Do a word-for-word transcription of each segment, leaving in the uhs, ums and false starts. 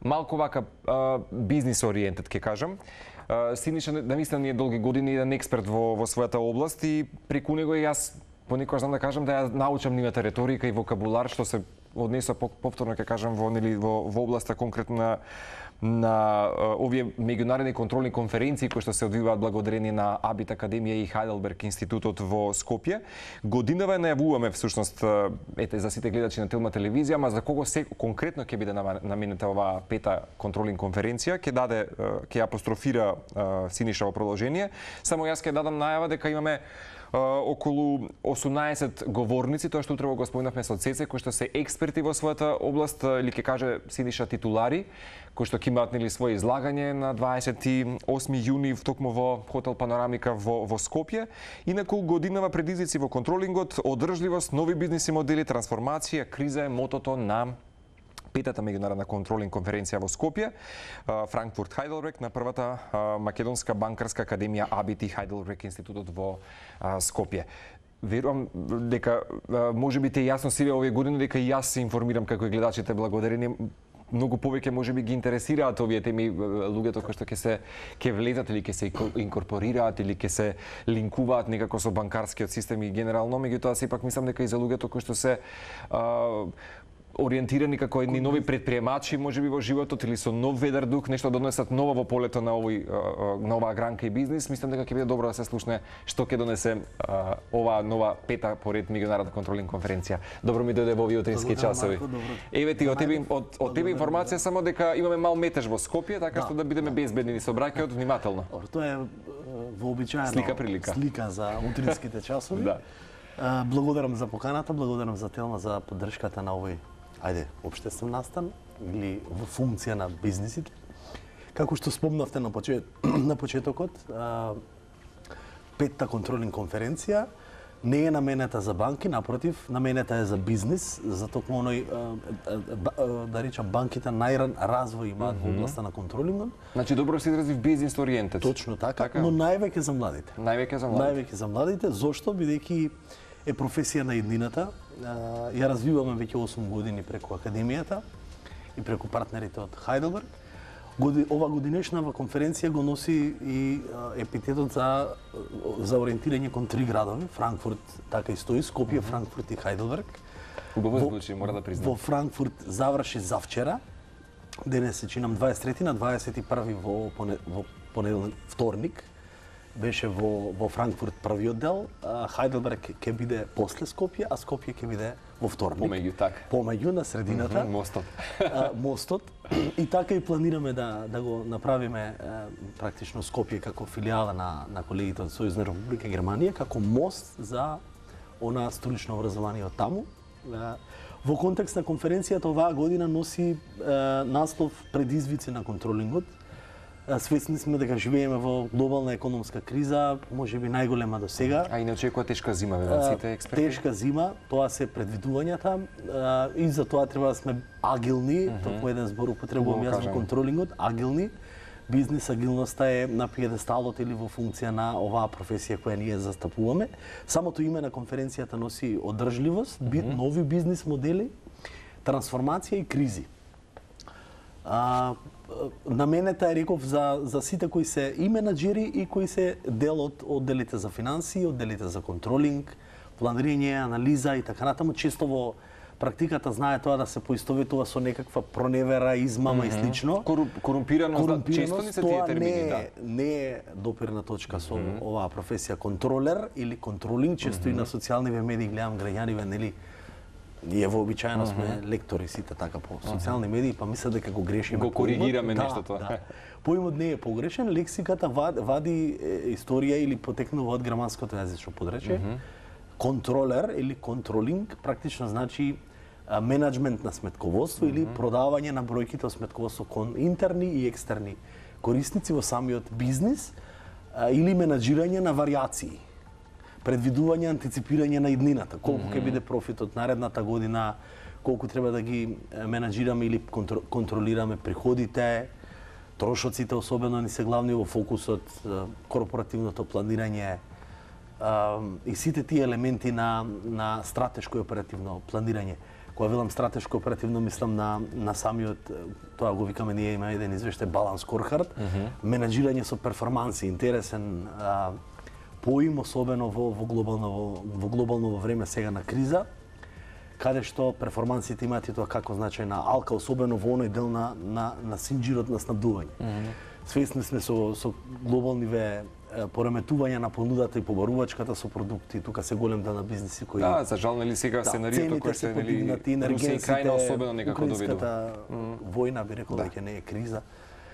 малку вака бизнис ориентед ќе кажам. Синиша наистина ние долги години еден експерт во во својата област и преку него и јас понекогаш знам да кажам да ја научам нивната реторика и вокабулар што се однесува повторно ќе кажам во нели во во областа конкретно на на овие меѓународни контролни конференции кои што се одвиваат благодарение на Абит Академија и Хайделберг институтот во Скопје. Годинава најавуваме всушност ете за сите гледачи на Телма телевизија, ама за кого се конкретно ќе биде наменета оваа пета контролинг конференција, ќе даде ќе апострофира Синиша во продолжение. Само јас ќе дадам најава дека имаме околу осумнаесет говорници, тоа што утрево го спомнавме со Цеце, кои што се експерти во својата област, или ќе каже Синиша титулари, кои што ќе имаат нели своје излагање на дваесет и осми јуни токму во хотел Панорамика во во Скопје. Инаку годинава предизвици во контролингот, одржливост, нови бизниси модели, трансформација, криза е мотото на петата меѓународна контролинг конференција во Скопје, Франкфурт Хайделберг, на првата македонска банкарска академија Абит и Хайделберг институтот во Скопје. Верувам дека можеби те јасно сиве овие години дека и јас се информирам како и гледачите благодарение многу повеќе можеби ги интересираат овие теми луѓето кои што ќе се ќе влезат или ќе се инкорпорираат или ќе се линкуваат некако со банкарскиот систем и генерално, меѓутоа сепак мислам дека и за луѓето кои што се а, ориентирани како едни нови предприемачи можеби во животот или со нов ведар дух, нешто донесат ново во полето на овој на оваа гранка и бизнис, мислам дека ќе биде добро да се слушне што ќе донесе а, оваа нова пета поред меѓународна контролинг конференција. Добро ми дојде во овие утрински часови. Еве ти од тебе од, од тебе информација само дека имаме мал метеж во Скопје, така да, што да бидеме безбедни со браќаот внимателно. Тоа е вообичаена слика прилика. Слика за утринските часови. Да. Благодарам за поканата, благодарам за Телма за поддршката на овој ајде, општествен настан или во функција на бизнисите. Како што спомнавте на, почет, на почетокот, а, петта контролинг конференција не е наменета за банки, напротив, наменета е за бизнис, за токму оној, да речам, банките најран развој имаат mm -hmm. во областа на контролингот. Значи добро се изрази бизнис ориентед. Точно така, така, но највеќе за младите. Највеќе за младите. Највеќе за младите, зошто? Бидејќи е професија на иднината. Ја развиваме веќе осум години преку академијата и преку партнерите од Хайделберг. Ова годинешнава конференција го носи и епитетот за за ориентирање кон три градови, Франкфурт, така и стои, Скопје, Франкфурт и Хайделберг. Убаво звучи, мора да признам. Во Франкфурт заврши завчера. Денес се чинам дваесет и трети на дваесет и први во во понеделник, вторник. Беше во во Франкфурт првиот дел, Хайделберг ќе биде после Скопје, а Скопје ќе биде во вторник. Помеѓу така. Помеѓу на средината. Mm -hmm, мостот. Мостот. И така и планираме да да го направиме практично Скопје како филијала на на колегите од Сојузна република Германија како мост за она столично образование од таму. Во контекст на конференцијата оваа година носи наслов предизвици на контролингот. Свесни сме дека живееме во глобална економска криза, можеби најголема до сега. А и не очекува тешка зима, ве сите експерти? Тешка зима, тоа се предвидувањата и за тоа треба да сме агилни, mm -hmm. токму еден збор употребувам јас во контролингот, агилни. Бизнес агилноста е на пиедесталот или во функција на оваа професија која ние застапуваме. Самото име на конференцијата носи одржливост, mm -hmm. нови бизнис модели, трансформација и кризи. А, наменета е реков за за сите кои се и менаџери и кои се дел од одделите за финансии, одделите за контролинг, планирање, анализа и така натаму. Често во практиката знае тоа да се поистоветува со некаква проневера, измама mm -hmm. и слично. Кору, корумпираност, корумпираност, често не се тие термини, не, да. Не е допирна точка со mm -hmm. оваа професија контролер или контролинг, често mm -hmm. и на социјалниве медии гледам граѓаниве, нели, ние вообичаено сме mm -hmm. лектори сите така по социјални медии, па мислам дека го грешиме. Го коригираме да, нешто тоа. Да. Поимот не е погрешен, лексиката вади, вади е, историја или потекнува од германското јазично подречје. Mm -hmm. Контролер или контролинг практично значи а, менеджмент на сметководство mm -hmm. или продавање на бројките од сметководство кон интерни и екстерни корисници во самиот бизнис а, или менаџирање на варијации. Предвидување, антиципирање на иднината, колку ќе mm -hmm. биде профитот наредната година, колку треба да ги менаџираме или контр контролираме приходите, трошоците особено ни се главни во фокусот, корпоративното планирање, а, и сите тие елементи на на стратешко и оперативно планирање. Кога велам стратешко оперативно, мислам на на самиот, тоа го викаме ние, има еден извештај баланс скоркард, mm -hmm. менаџирање со перформанси, интересен а, поим, особено во во глобално во, во глобално време сега на криза, каде што перформансите имаат и тоа како значајна алка, особено во оној дел на на на синџирот на снабдување. Mm -hmm. Свесни сме со со глобалниве пореметување на понудата и побарувачката со продукти, тука се голем дел на бизниси кои да, за жал нели сега да, сценариото кој се нели Русија и крајна особено некако доведува. Војна би рекол дека не е криза.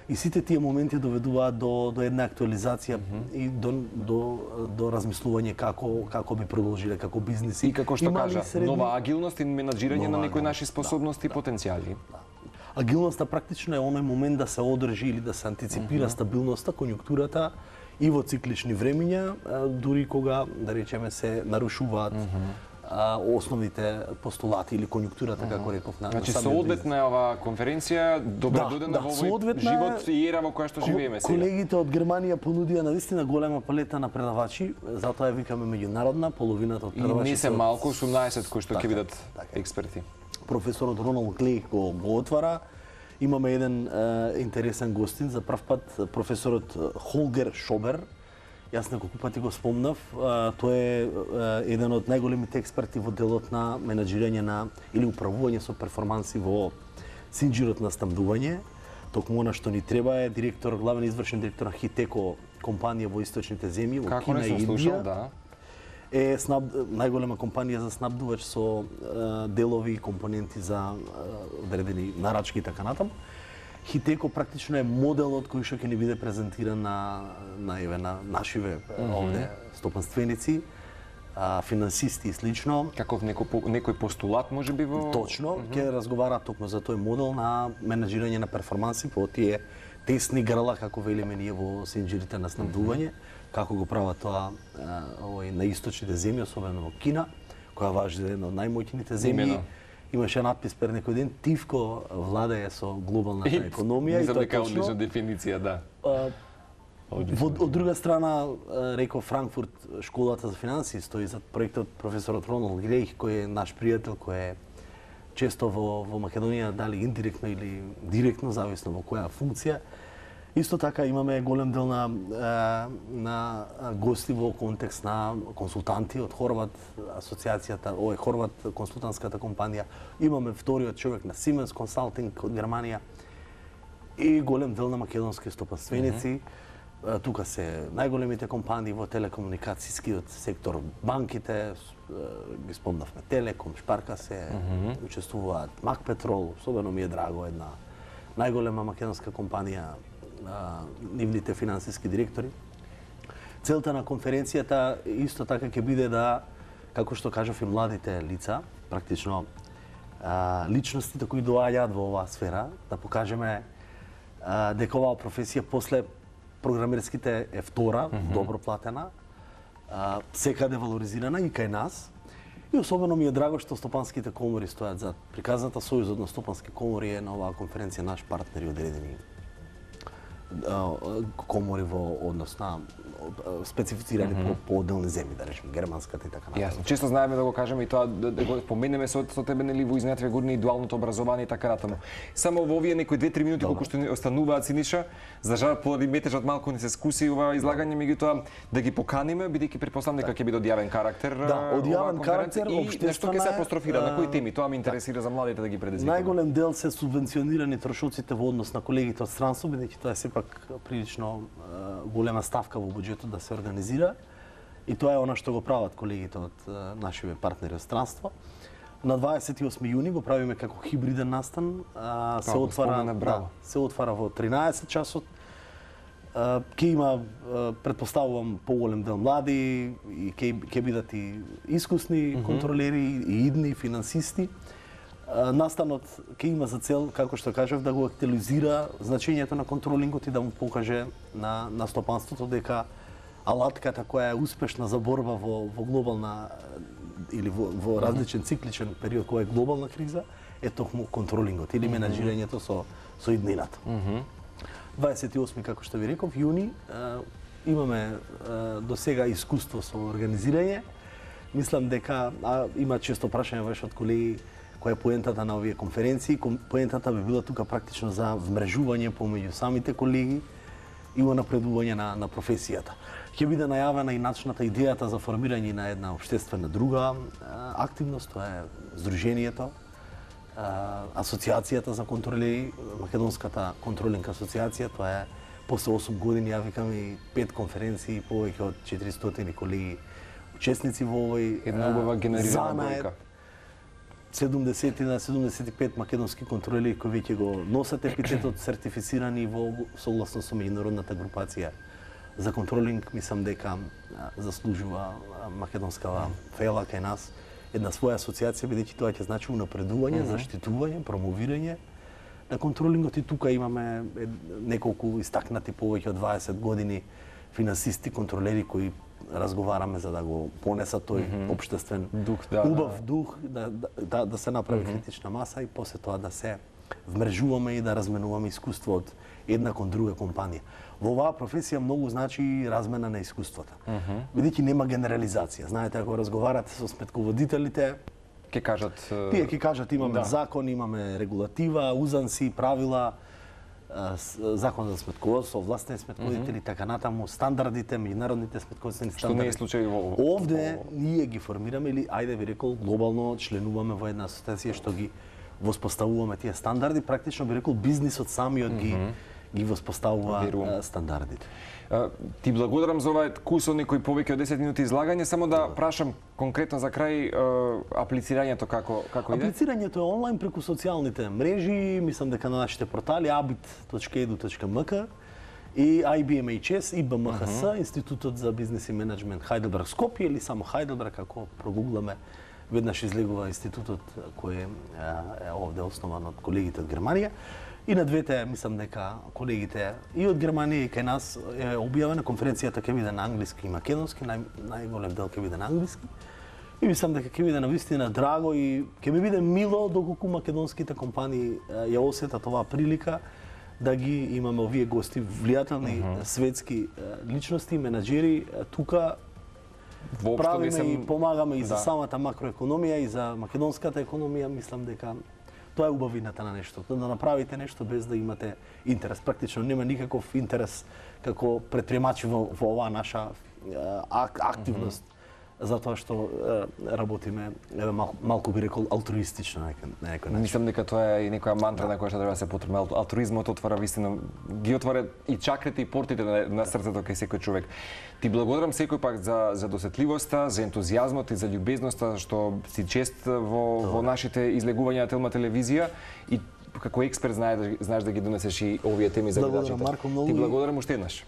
И сите тие моменти доведуваат до до една актуализација mm -hmm. и до до до размислување како како би продолжиле како бизниси. И како што кажа, средни... нова агилност и менаџирање на некои наши способности да, и потенцијали. Да. Агилноста практично е оној момент да се одржи или да се антиципира mm -hmm. стабилноста, конјунктурата и во циклични времиња, дури кога, да речеме, се нарушуваат mm -hmm. а, основните постулати или конјунктурата, mm -hmm. како реков на Значи, соодветна е оваа конференција, добре да, додена да, во овој живот и ера во која што живееме сега. Колегите од Германија понудија навистина голема палета на предавачи, затоа ја викаме меѓународна, половината од предавачите. И не се малку, осумнаесет кои што ќе бидат експерти. Професорот Роналд Клеј го, го отвара. Имаме еден е, интересен гостин за прв пат, професорот Холгер Шобер. Јас неколку пати го спомнав. Е, тој е, е еден од најголемите експерти во делот на менаџирање на или управување со перформанси во синџирот на снабдување. Токму она што ни треба е директор, главен извршен директор на Хитеко компанија во источните земји, во Како Кина не и сум Индија. Слушал, да. Е снаб, најголема компанија за снабдувач со е, делови и компоненти за е, одредени нарачки и така натаму. Хитеко практично е моделот кој што ќе ни биде презентиран на на еве на нашиве mm -hmm. овде стопанственици, а, финансисти и слично. Каков некој некој постулат можеби во Точно, mm -hmm. ќе разговара токму за тој модел на менаџирање на перформанси по тие тесни грла, како велиме ние во синџирите на снабдување, mm -hmm. како го прават тоа овој на источните земји, особено во Кина, која важи за една од најмоќните земји. Имено. Имаше надпис пред некој ден, Тивко владее со глобалната економија и тоа е точно. Одлична дефиниција, да. А, во, од друга страна, реков Франкфурт, школата за финансии стои за проектот професорот Роналд Клеј, кој е наш пријател, кој е често во, во Македонија, дали индиректно или директно, зависно во која функција. Исто така имаме голем дел на, на гости во контекст на консултанти од Хорват асоциацијата, ова Хорват консултантската компанија. Имаме вториот човек на Siemens Consulting од Германија и голем дел на македонски стопанственици. Mm -hmm. Тука се најголемите компании во телекомуникацијскиот сектор, банките, ги спомнавме Телеком, Шпарка се, mm -hmm. учествуваат Мак Петрол, особено ми е драго една најголема македонска компанија, а, нивните финансиски директори. Целта на конференцијата исто така ќе биде да, како што кажав, и младите лица, практично а, личностите кои доаѓаат во оваа сфера, да покажеме а, дека оваа професија после програмерските е втора, mm -hmm. добро платена, а, секаде валоризирана и кај нас. И особено ми е драго што стопанските комори стојат зад. Приказната Сојузот на стопански комори е на оваа конференција наш партнер и одредени комори во однос на специфицирани mm -hmm. по, по отделни земји, да речеме германската и така натаму. Јасно. Често знаеме да го кажеме и тоа да, да го споменеме со, со тебе нели во изминативе години и дуалното образование и така натаму. Само во овие некои две-три минути колку што ни остануваат, Синиша, за жал поради метежот малку ни се скуси ова излагање, меѓутоа да ги поканиме бидејќи претпоставам дека ќе биде од јавен карактер. Да, од јавен карактер, и нешто ќе се апострофира на кои теми, тоа ме интересира за младите да ги предизвикаме. Најголем дел се субвенционирани трошоците во однос на колегите од странство, бидејќи тоа е сепак прилично голема ставка во буџетот да се организира. И тоа е она што го прават колегите од нашиве партнери од странство. На дваесет и осми јуни го правиме како хибриден настан, а, се отвара, да, се отвара во тринаесет часот. Ќе има, претпоставувам, поголем дел млади и ќе ќе бидат и искусни mm -hmm. контролери и идни финансисти. Настанот ќе има за цел, како што кажав, да го актуализира значењето на контролингот и да му покаже на на стопанството дека алатката која е успешна за борба во во глобална или во, во различен цикличен период која е глобална криза е токму контролингот или менаџирањето со со иднината. Mm -hmm. дваесет и осми, како што ви реков, јуни, имаме а, до сега искуство со организирање. Мислам дека а, има често прашање ваш од колеги која е поентата на овие конференции. Поентата би била тука практично за вмрежување помеѓу самите колеги и напредување на, на професијата. Ќе биде најавена и начната идејата за формирање на една општествена друга а, активност, тоа е Сдруженијето, а, Асоциацијата за контролери, Македонската контролинг асоциација, тоа е после осум години, ја викам, и пет конференции, повеќе од четиристотини колеги учесници во овој една убава генерирана бројка. седумдесет на седумдесет и пет македонски контролери кои веќе го носат епитетот сертифицирани во согласно со меѓународната групација за контролинг. Мислам дека заслужува македонскава фела кај нас една своја асоциација, бидејќи тоа ќе значи унапредување, mm -hmm. заштитување, промовирање на контролингот. И тука имаме неколку истакнати повеќе од дваесет години финансисти, контролери кои разговараме за да го понесат тој mm -hmm. општествен дух, да, убав да. дух, да, да, да се направи mm -hmm. критична маса и после тоа да се вмрежуваме и да разменуваме искуство од една кон друга компанија. Во оваа професија многу значи размена на искуствата. Mm -hmm. Бидејќи нема генерализација. Знаете, ако разговарате со сметководителите, ќе кажат тие ќе кажат имаме да. закон, имаме регулатива, узанси, правила, закон за сметководство, властни сметководители, mm -hmm. така натаму, стандардите, меѓународните сметководствени стандарди. Што не е случај во Овде ние ги формираме или ајде би рекол глобално членуваме во една асоциација што ги воспоставуваме тие стандарди, практично би рекол бизнисот самиот mm -hmm. ги ги воспоставува uh, стандардите. Uh, ти благодарам за овај кусо некој повеќе од десет минути излагање, само да прашам конкретно за крај uh, аплицирањето како како иде? Аплицирањето е онлайн преку социјалните мрежи, мислам дека на нашите портали абит точка еду точка ем ка и ай би ем еич ес и бэ ем ха ес, uh -huh. Институтот за бизнес и менеджмент Хајделберг Скопје или само Хајделберг, ако прогугламе, веднаш излегува институтот кој е, е овде основан од колегите од Германија. И на двете, мислам дека колегите и од Германија и кај нас е објавена, конференцијата ќе биде на англиски и македонски, нај, најголем дел ќе биде на англиски. И мислам дека ќе биде навистина драго и ќе ми биде мило доколку македонските компании ја осетат оваа прилика да ги имаме овие гости, влијателни uh -huh. светски личности, менаџери тука. Воопшто правиме съм... и помагаме и да. за самата макроекономија и за македонската економија. Мислам дека тоа е убавината на нештото, да направите нешто без да имате интерес. Практично нема никаков интерес како предприемачи во, во оваа наша ак, активност, mm -hmm. затоа што е, работиме е, мал, малку би рекол алтруистично на некој начин. Мислам дека тоа е и некоја мантра на која што треба да се потребна. Алтруизмот отвара вистина, ги отвара и чакрите и портите на, на срцето кај секој човек. Ти благодарам секој пак за за досетливоста, за ентузијазмот и за љубезноста што си чест во во нашите излегувања на Телма телевизија и како експерт знаеш да знаеш да ги донесеш и овие теми за гледачите. Благодарам, Марко, многу. Ти благодарам уште еднаш.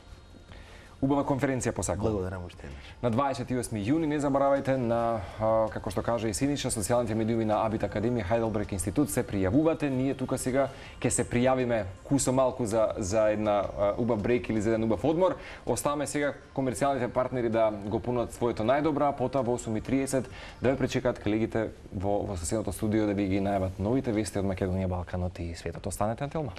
Убава конференција посакувам. Благодарам уште еднаш. На дваесет и осми јуни не заборавајте на, како што кажа и Синиша, социјалните медиуми на Абит Академија Хајделберг институт се пријавувате. Ние тука сега ќе се пријавиме кусо малку за за една убав брейк или за еден убав одмор. Оставаме сега комерцијалните партнери да го понудат своето најдобро, а потоа во осум и триесет да ве пречекаат колегите во во соседното студио да ви ги најават новите вести од Македонија, Балканот и светот. Останете на Телма.